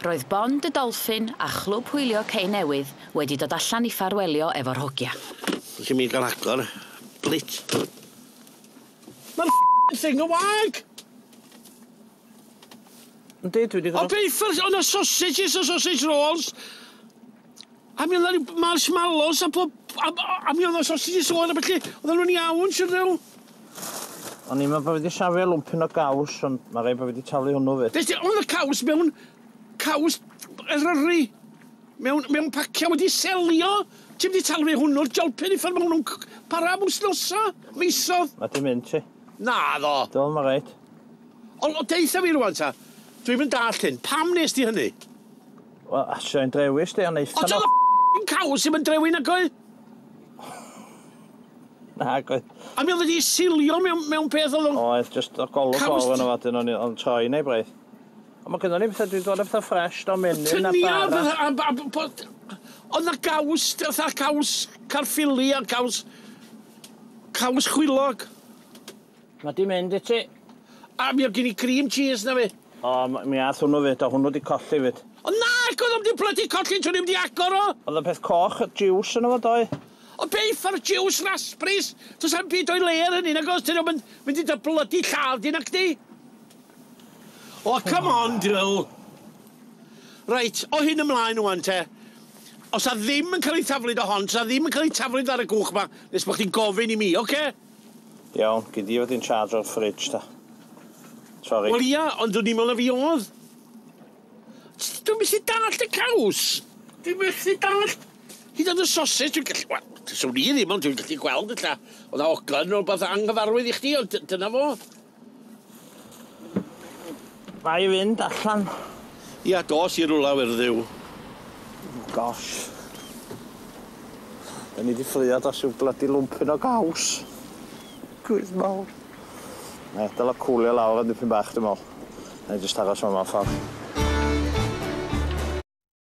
Roedd Bond y Dolphin a Chlwb Hwylio Cei Newydd wedi dod allan i ffarwelio efo'r hogia. Felly mi gael agor. Blit. Mae'r thing yn wag! Yndi, dwi wedi O beth, o'na sausages a sausage rolls. A mi oedd 'na marshmallows a pob... A mi oedd 'na sausages oer a felly. Oedden nhw'n iawn, siwr ddew. O'n i'n meddwl bod fi wedi safio lwmpyn o gaws, ond mae rhaid bod fi wedi taflu hwnnw fyd. Des di, oedd y caws mewn... Caws Eryri. Mewn pacia wedi selio. Ti'n mynd i taflu hwnnw'r jolpyn i ffordd mae hwnnw'n para am wythnosa, misodd. Mae di mynd ti. Na ddo. Do, mae rhaid. Ond o deutha fi rwan ta, dwi'n mynd dallt hyn. Pam nes di hynny? Wel, asio i'n drewis di, ond O eitha ti'n y caws ddim yn drewi nag oedd? Na, oedd. A mi oedd wedi silio mewn peth oedd o'n... Oedd, just o golwg Caws- o'r yno fo, dyn o'n troi neu braidd. Ond mae gynnon ni pethau, dwi'n dod â pethau ffresh, do menyn a Tynia, bara. Oedd na gaws, fatha caws Caerffili a caws chwilog. Mae di mynd i ti. A mi oedd gen i cream cheese na fi. O, mi ath hwnnw fyd, o hwnnw di colli fyd. O na, oedd o'm di plydu colli trwy ddim di agor o. Oedd y peth coch, juice yno fo, doi. O beth ar juice raspberries? Does am byd o'i le ar hynny, nag oes? Dyn nhw'n mynd i dy blydu lladd di nac di? O, come on, Dyl. Reit, o hyn ymlaen wan te. Os a ddim yn cael ei taflud o hon, os a ddim yn cael ei taflud ar y gwch ma, nes bod chdi'n gofyn i mi, oce? Iawn, gyd i fod in charge o'r fridge, ta. Sorry. Wel ia, ond dwi'n meddwl na fi oedd. Dwi'n methu dallt y caws. Dwi'n methu dallt. Hyd yn oed y sausage, dwi'n gallu... Wel, swn i ddim, ond dwi'n gallu gweld ella. Oedd na oglan o rwbeth anghyfarwydd i chdi, ond dyna fo. Mae i fynd allan. Ia, dos i rwla werddiw. Oh, gosh. Da ni di ffrio dros yw bloody lwmpyn o gaws. Gwydd mawr. Na, dyla cwlio lawr yn dipyn bach, dwi'n meddwl. Na i jyst aros yma ffordd.